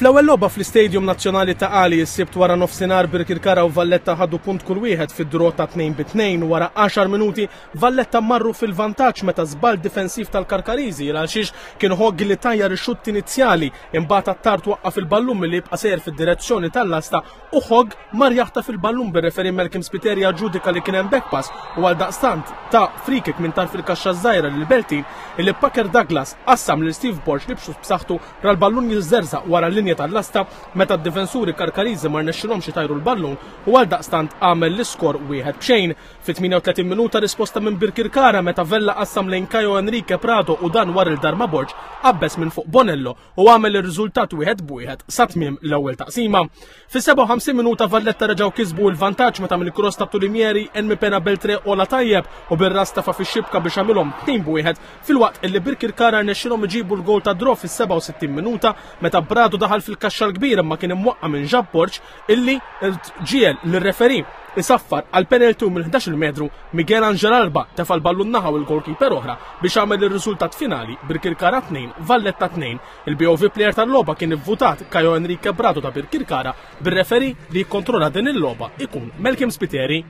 Fl-ewwel logħba fl-Istadium Nazzjonali ta' Qali s-Sibt wara nofsinhar Birkirkara u Valletta ħadu punt kull wieħed fid-draw ta' 2-2 wara 10 minuti Valletta marru fil-vantaġġ meta żball difensiv tal-Karkariżi il għalxiex kien Hogg li tajjar ix-xutt inizjali imbagħad Attard waqqaf il-ballun milli jibqa' sejjer fid-direzzjoni tal-lasta u Hogg mar jaħtaf il-ballun bir-referee Malcolm Spiteri aġġudika li kien hemm back pass u għaldaqstant ta free kick minn tarf il-kaxxa ż-żgħira lil Beltin illi Packer Douglas qassam lil Steve Borg li b'xutt b'saħħtu Ra l-ballun jiżżerżaq wara l-linja tal-lasta meta d-difensuri Karkariżi ma rnexxilhomx itajru l-ballun u għaldaqstant għamel l-iskor wieħed b'xejn. Fit-38 minuta risposta minn Birkirkara meta Vella qassam lejn Caio Henrique Prado u dan war il-Darma Borg qabbeż minn fuq Bonello u għamel ir-riżultat wieħed b'wieħed sa tmiem l-ewwel taqsima. Fis-57 minuta Valletta reġgħu kisbu l-vantaġġ meta mill-cross ta' Tulimieri Enmi Pena Beltre ola tajjeb u bir-ras tafa' fix-xibka biex għamilhom 2 b'wieħed filwaqt illi Birkirkara rnexxilhom iġibu l-gowl ta' draw fis-67 minuta meta Brado daħal fil-kaxxa l-kbira imma kien imwaqqa' minn Jacques Borg illi ġiegħel lir-referee isaffar għal penalty u mill-11 metru Miguel Angel Alba tefa' l-ballun naħa u l-goalkeeper oħra biex għamel ir-riżultat finali Birkirkara 2 Valletta 2. Il-BOV player tal-logħba kien ivvutat Caio Henrique Brado ta' Birkirkara bir-referee li jikkontrolla din il-logħba ikun Malcolm Spiteri.